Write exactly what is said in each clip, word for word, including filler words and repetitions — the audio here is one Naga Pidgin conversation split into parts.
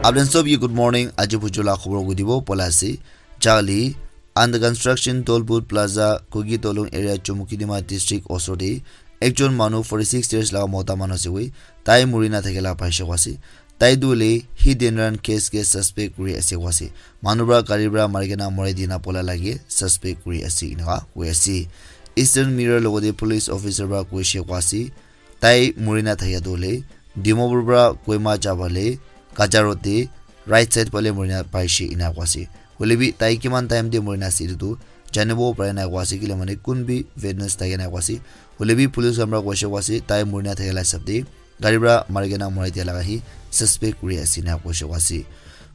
Apni sob ke good morning. Aji bujula khobor ko dibo pola ase. Jali under construction Tolbut Plaza, Kuki Tolung area, Chumukidima district osor te ekjon manu forty six years laga mota manu ase koi. Tai muri na thakila paishe ko ase. Tai tu le hit and run case ke suspect kuri ase ko ase. Manu pra gari pra mari kena morai dina pola lage suspect kuri ase inaka koi ase. Eastern Mirror logote police officer pra koishe ko ase. Tai muri na thakia tu le Dimapur pra Kohima jabale Kacha road te right side pale muri na paishe ina ko ase. Hoile bi tai kiman time te muri na ase etu tu janibo pare na ko ase, kile mane kun bi witness thakia na ko ase. Hoile bi police khan pra koishe ko ase tai muri na thakia la hisab te gari pra mari kena morai dia laga hi suspect kuri ase na koishe ko ase.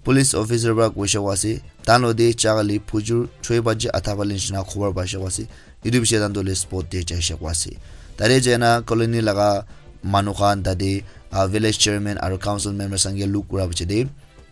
Police officer pra koishe ko ase, tan lo de chakali phujur choi baji atha pale nishina khobor paishe ko ase. Etu bishi tan to le spot te jaishe ko ase. Tade jaina colony laga manu khan tade, ah, village chairman aro council members khan ke look kura biche de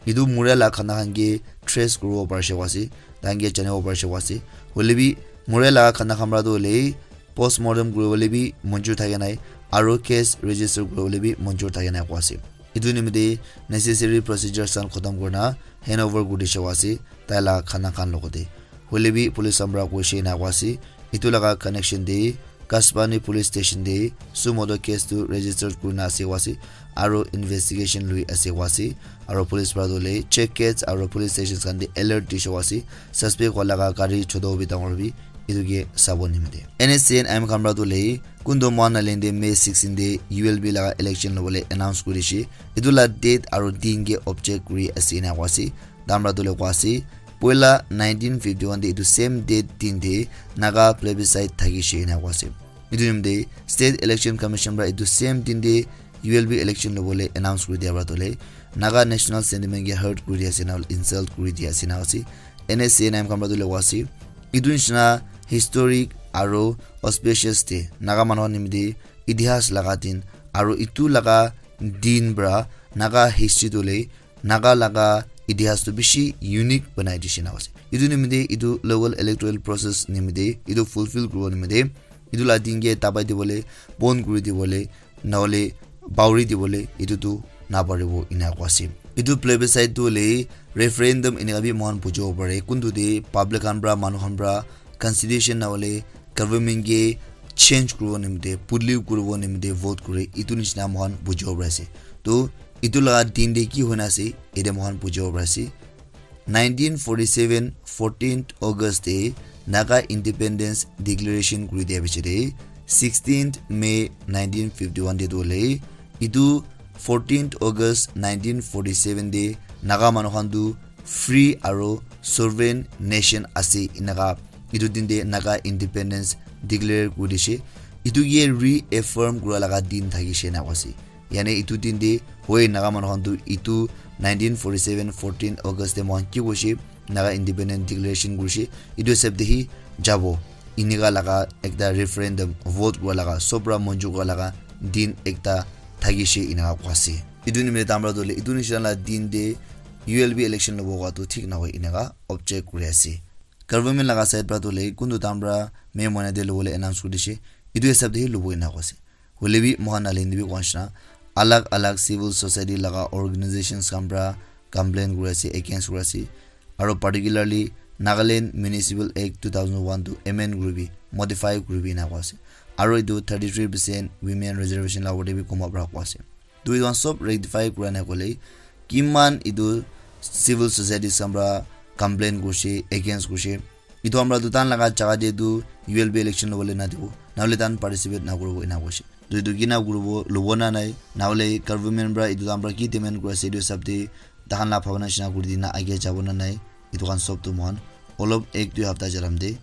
etu muria la khana khan ke trace kuribo parishe ko ase, tahan ke janibo parishe ko ase. Hoile bi muria la khana khan pra tu hoile postmortem kuribole bi monjur thake nai, aro case register kuribole bi monjur thake nai ko ase. Etu nimite necessary procedures khan khotom kurina hand over kuri dishe ko ase, tai la khana khan logote. Hoile bi police khan pra koishe na ko ase, etu laga connection de Kasbani police station de suo moto case tu register kurina ase ko ase, aro investigation lui ase ko ase, aro police pra tu le check gates aro police stations khan de alert dishe ko ase, suspect wala laga gari choto bi dangor bi etu ke sabo nimite. N S C N M khan pra tu le kuntu mohan na lende May sixteen de U L B laga election lobole announce kuri dishe, etu la date aro din ke object kuri ase na ko ase, tamra tu le ko ase, poila nineteen fifty-one de etu same date din de Naga plebiscite thakishe ena ko ase. Etu nimite State Election Commission pra etu same din de U L B election lobole announce kuri dia pra tole Naga national sentiment ke hurt kuri dia ase na insult kuri dia ase na ase. N S C N M khan pra tole ko ase. Etu nishina historic aro auspicious de Naga manu khan nimite itihas laga din aro etu laga din pra Naga history tole Naga laga itihas tu bishi unique banai dishe na ase. Etu nimite etu local electoral process nimite etu fulfill kuribo nimite etu la din ke dabai dibole, bon kuri dibole, nahole bauri dibole etu tu naparibo ena ko ase. Etu plebiscite tu hoile referendum eneka bi mohan bujibo pare. Kuntu de public khan pra, manu khan pra constitution nahole government ke change kuribo nimite, pudli kuribo nimite vote kure, etu nishina mohan bujibo pare ase. To etu laga din de ki hoina ase, ede mohan bujibo pare ase. Nineteen forty-seven, fourteenth August de Naga Independence Declaration kuri dia biche de, sixteenth May nineteen fifty-one de tu hoile, etu fourteenth August nineteen forty-seven de Naga manu khan tu free aro sovereign nation ase eneka etu din de Naga independence declare kuri dishe. Etu ke reaffirm kura laga din thakishe na ase. Yane etu din de hoi Naga manu khan tu etu nineteen forty-seven fourteen August de mohan ki koishe, Naga independent declaration kurishe, etu hisab de hi jabo. Eneka laga ekta referendum vote kura laga sob pra monjur kura laga din ekta thakishe eneka ko ase. Etu nimite tamra tu hoile etu nishina la din de U L B election lobo ko tu thik nahoi eneka object kuri ase. Government laga side pra tu hoile kuntu tamra May moina de lobole announce kuri dishe, etu hisab de hi lobo eneka ko ase. Hoile bi mohan nalin de bi koa nishina alag alag civil society laga organizations khan pra complain kuri ase, against kuri ase, aro particularly Nagaland Municipal Act two thousand one tu amend kuribi, modify kuribi ena ko ase. Aro etu thirty-three percent women reservation la opor te bi koma pra ko ase. Tu etu khan sob rectify kura na kole kiman etu civil societies khan pra complain kurishe, against kurishe. Etu khan pra tu tahan laga jaga de tu U L B election lobole na dibo, nahole tahan participate na kuribo ena koishe. Tu etu kina kuribo, lobo na nai, nahole government pra etu tahan pra ki demand kuri ase etu hisab de tahan la bhabana nishina kuri dina age jabo na nai, etu khan sob tu mohan olop ek dui hapta jalam de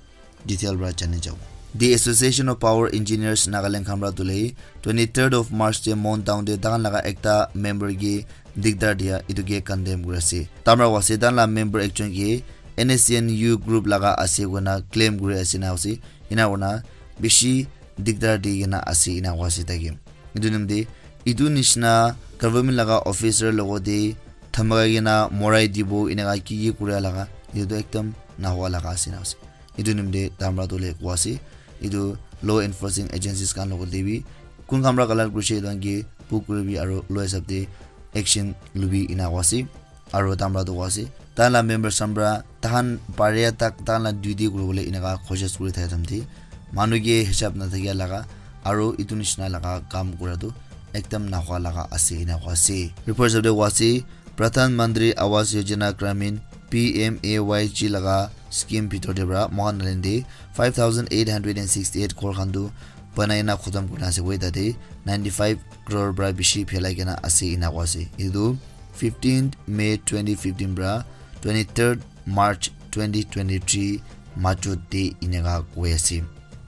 detail pra jani jabo. The Association of Power Engineers Nagaland khan pra tu hoile twenty-third of March de Mon town de tahan laga ekta member ke digdar dia etu ke condemn kuri ase. Tamra ko ase tahan la member ekjon ke N S C N U group laga ase koina claim kuri ase na ase. Ena koina bishi digdar di kena ase ena ko ase tai ke. Etu nimite etu nishina government laga officer logote dhamaka kena morai dibo eneka ki ki kuria laga etu tu ekdam nahoa laga ase na ase. Etu nimite tamra tu hoile ko ase. Etu law enforcing agencies khan logote bi kun khan pra collide kurishe etu khan ke book kuribi aro law hisab de action lubi ena ko ase. Aro tamra tu ase, tai la members khan pra tahan paria tak tahan la duty kuribole eneka khoshes kuri thaka time te manu ke hisab nathakia laga aro etu nishina laga kam kura tu ekdam nahua laga ase ena koa ase. Report hisab te koa ase, Pradhan Mantri Awas Yojana Gramin, P M A Y G laga scheme bhitor te pra mohan Nagaland te five thousand eight hundred and sixty eight ghor khan tu banai na khotom kurina ase koi, tate ninety five crore pra bishi phelai kena ase ena koa ase. Etu fifteenth May twenty fifteen pra twenty-third March twenty twenty-three majot te eneka koi ase.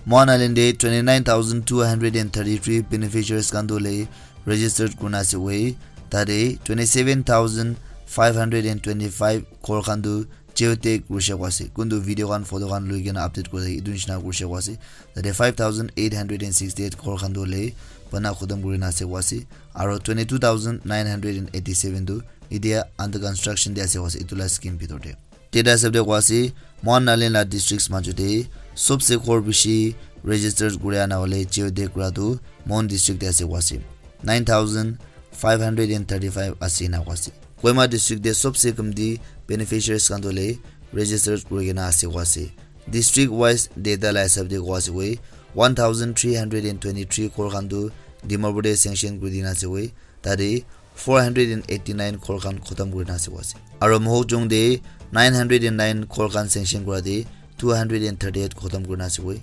Mohan Island te twenty-nine thousand two hundred and thirty-three beneficiaries khan tu le registered kurina ase koi, tate twenty-seven thousand five hundred and twenty-five ghor khan tu geotag kurishe koa ase. Kuntu video khan, photo khan lui kena update kuri thaki etu nishina kurishe koa ase. Tate five thousand eight hundred and sixty eight ghor khan tu hoile bana khotom kurina ase koa ase. Aro twenty two thousand nine hundred and eighty seven tu etia under construction te ase koa ase, etu la scheme bhitor te. Data hisab te koa ase, Mohan Nagaland la districts majot te sobse ghor bishi register kuri ana hoile geotag kura tu Mon district te ase koa ase. Nine thousand five hundred and thirty five ase ena koa ase. Kohima district te sobse kamti beneficiaries khan tu hoile register kuri kena ase koa ase. District wise data la hisab te koa ase koi, one thousand three hundred and twenty three ghor khan tu Dimapur te sanction kuri dina ase koi, tate four hundred and eighty nine ghor khan khotom kurina ase koa ase. Aro Mokokchung te nine hundred and nine ghor khan sanction kura te two hundred and thirty eight khotom kurina ase koi.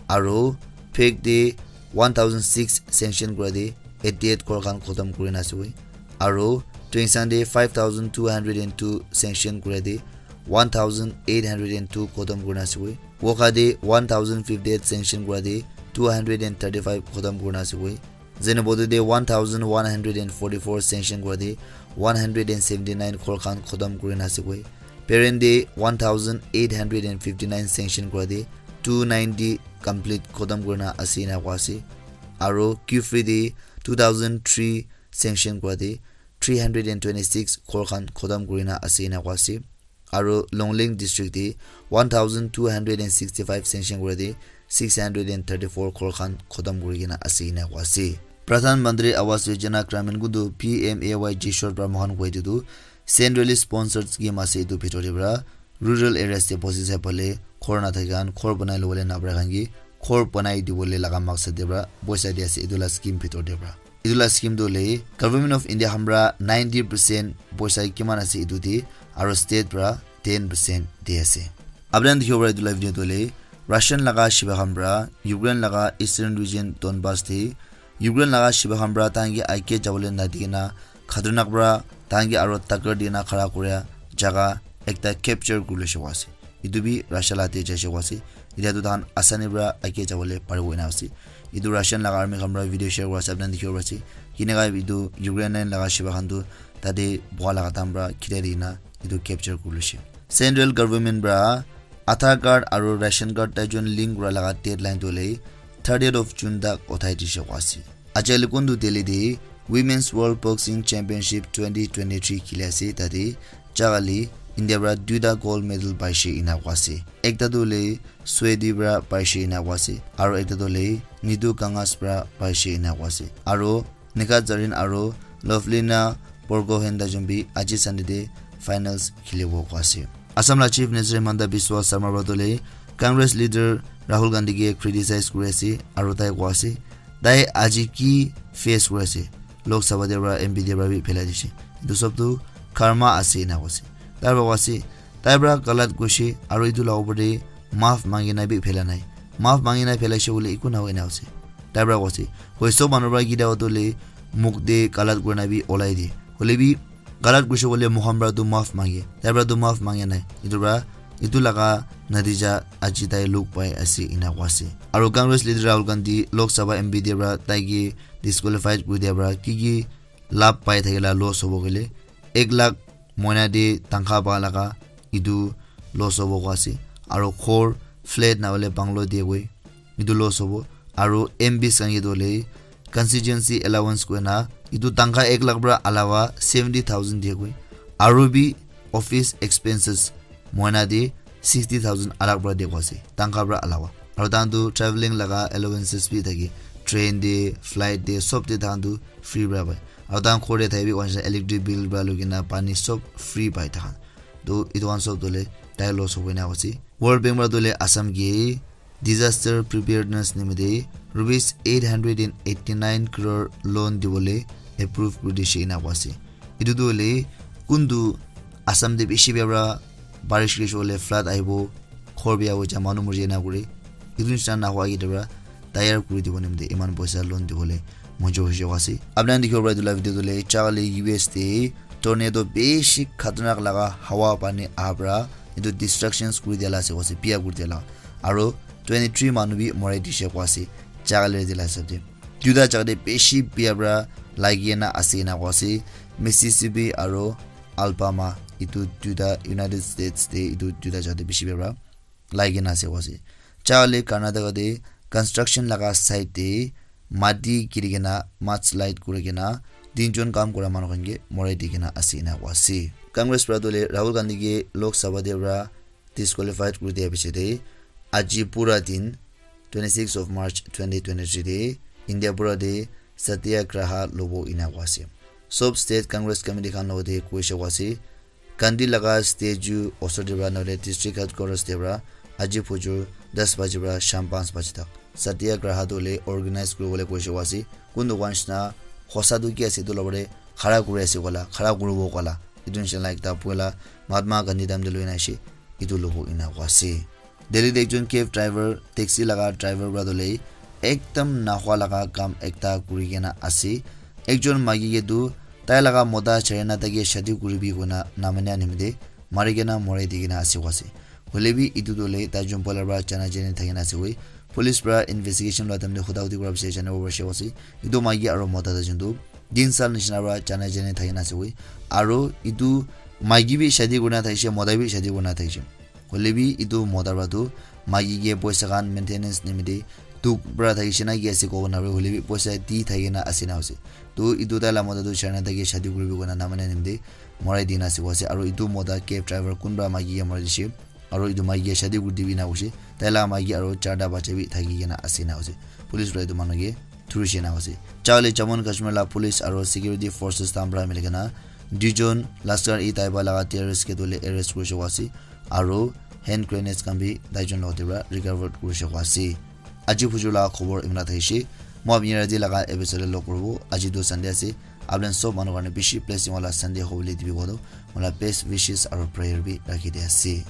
Aro Phek te one thousand six sanction kura te eighty eight ghor khan khotom kurina ase koi. Aro Tuensang te five thousand two hundred and two sanction kura te one thousand eight hundred and two khotom kurina ase koi. Wokha te one thousand fifty eight sanction kura te two hundred and thirty five khotom kurina ase koi. Zunheboto te one thousand one hundred and forty four sanction kura te one hundred and seventy nine ghor khan khotom kurina ase koi. Peren te one thousand eight hundred and fifty nine sanction kura te two ninety complete khotom kurina ase ena koa ase. Aro Kiphire te two thousand three sanction kura te three hundred and twenty six ghor khan khotom kurina ase ena koa ase. Aro Longleng district te one thousand two hundred and sixty five sanction kura te six hundred and thirty four ghor khan khotom kuri kena ase ena koa ase. Pradhan Mantri Awas Yojana Gramin kuntu P M A Y G short pra mohan koi ditu centrally sponsored scheme ase, etu bhitor te pra rural areas te bosti sai pale ghor nathaka khan ghor banai lobole napara khan ke ghor banai dibole laga maksad te pra poisa di ase etu la scheme bhitor te pra. Etu la scheme tu hoile Government of India khan pra ninety percent poisa kiman ase etu te aro state pra ten percent di ase. Apni khan dikhibo para etu la video tu hoile Russian laga shipa khan pra Ukraine laga eastern region Donbas te Ukraine laga shipa khan pra tahan ke age jabole nadi kena khatarnak pra tahan ke aro takar di kena khara kuria jaga ekta capture kuri loishe koa ase. Etu bi Russia la te jaishe koa ase. Etia tu tahan asani pra age jabole paribo ena ase. Etu Russian laga army khan pra video share kura ase, apni khan dikhibo pari ase. Kineka etu Ukrainian laga shipa khan tu tate boha laga time pra khitai di kena etu capture kuri loishe. Central government pra Aadhaar card aro ration card tai jon link kura laga deadline tu hoile thirtieth of June tak uthai dishe koa ase. Aji hali kuntu Delhi te Women's World Boxing Championship twenty twenty-three khili ase, tate Chakali India pra duita gold medal paishe ena koa ase. Ekta tu hoile Swedi pra paishe ena koa ase, aro ekta tu hoile Nitu Kangas pra paishe ena koa ase. Aro Nikhat Zarin aro Lovelina Borgohain tai jon bi aji Sunday te finals khilibo koa ase. Assam la Chief Minister Himanta Biswa Sarma pra tu hoile Congress leader Rahul Gandhi ke criticize kuri ase aro tai koa ase, tai aji ki face kuri ase, Lok Sabha te pra M P te pra bi phelai dishe. Etu sob tu karma ase ena koa ase. Tai pra koa ase, tai pra galat koishe aro etu la upor te maaf mangi na bi phela nai. Maaf mangi na phelaishe koile eku nahoi ena ase. Tai pra koa ase, hoi sob manu pra kita hoto le muk te galat kuri na bi olai de. Hoile bi galat koishe koile moikhan pra tu maaf mange. Tai pra tu maaf mange nai. Etu pra, etu laga natija aji tai luk pai ase ena koa ase. Aro Congress leader Rahul Gandhi Lok Sabha M P te pra tai ke disqualified kuri dia pra ki ki labh pai thakila loss hobo koile ek lakh moina te tangkha pa laga etu loss hobo koa ase. Aro ghor, flat na hoile bungalow dia koi etu loss hobo. Aro M Ps khan ke tu hoile constituency allowance koina etu tangkha ek lakh pra alawa seventy thousand dia koi. Aro bi office expenses moina te sixty thousand alag pra dia koa ase, tangkha pra alawa. Aro tahan tu travelling laga allowances bi thake, train te, flight te, sob te tahan tu free pra pai. Aru tahan ghor te thaki bi electric bill pra lukina pani sob free pai tahan. To etu khan sob tole tai loss hobo ena koise. World Bank pra tole Assam ke disaster preparedness nimite rupees eight hundred and eighty nine crore loan dibole approve kuri dishe ena koise. Etu tu hoile kuntu Assam te bishi bia pra barish kuri hoile flood ahibo, ghor bia hoi ja, manu mori ja ena kuri. Etu nishina nahwa ke debra tayar kuri dibo nimite iman poisa loan dibole monjur hoise koa ase. Apni khan dikhibo para etu la video tu le chale U S te tornado bishi khatarnak laga hawa pani aha pra etu destructions kuri dia la ase koa ase, bia kuri dia la. Aro twenty three manu bi morai dishe koa ase, chale dia la hisab te. Duita jaga te bishi bia pra lagi na ase ena koa ase, Mississippi aro Alabama, etu duita United States te etu duita jaga te bishi bia pra lagi na ase koa ase. Chale Karnataka te construction laga site te mati giri kena mudslide kuri kena tinjon kam kura manu khan ke morai di kena ase ena koa ase. Congress pra tole Rahul Gandhi ke Lok Sabha te pra disqualified kuri dia piche te aji pura din twenty six of March twenty twenty three te India pura te satyagraha lobo ena koa ase. Sob state Congress committee khan logote koise koa ase. Gandhi laga statue osor te pra nohole district headquarters te pra aji phujur das baji pra sham panch baji tak satyagraha tu le organize kuribole koise koa ase. Kun tu koa nishina hosa tu ki ase etu lobole khara kuri ase koa la, khara kuribo koa la. Etu nishina la ekta puila Mahatma Gandhi time te loi na ase, etu lobo ena koa ase. Delhi te ekjon cab driver, taxi laga driver pra tole ekdam nahwa laga kam ekta kuri kena ase. Ekjon maiki ke tu tai laga mota chari na tai ke shadi kuribi koina namania nimite mari kena morai di kena ase koa ase. Hoile bi etu tu le tai jun pala pra jana jani thaki na ase koi. Police pra investigation la time te huda hudi kura piche janibo parise koa ase. Etu maiki aro mota tai jun tu din sal nishina pra jana jani thaki na ase koi. Aro etu maiki bi shadi kurina thakishe, mota bi shadi kurina thakishe. Hoile bi etu mota pra tu maiki ke poisa khan maintenance nimite dukh pra thakishe na ki ase kobo nare, hoile bi poisa di thaki na ase na ase. To etu tai la mota tu chari na tai ke shadi kuribi koina namania nimite morai di na ase koa ase. Aro etu mota cab driver kunba maiki ke morai dishe. Aro etu maiki ke shadi kuri dibi na koise. Tai la maiki aro charta bacha bi thaki kena ase na koise. Police pra etu manu ke thurishe na koise. Chale Jammu and Kashmir la police aro security forces khan pra mili kena duijon Lashkar-e-Taiba laga terrorist ke tole arrest kurishe koa ase. Aro hand grenades khan bi taijon logote pra recovered kurishe koa ase. Aji phujur laga khobor imla thakishe. Moi apni yate laga episode log kuribo. Aji tu Sunday ase. Apni sob manu karne bishi blessing wala Sunday hobole dibi koa tu mola best wishes aro prayer bi rakhi di ase.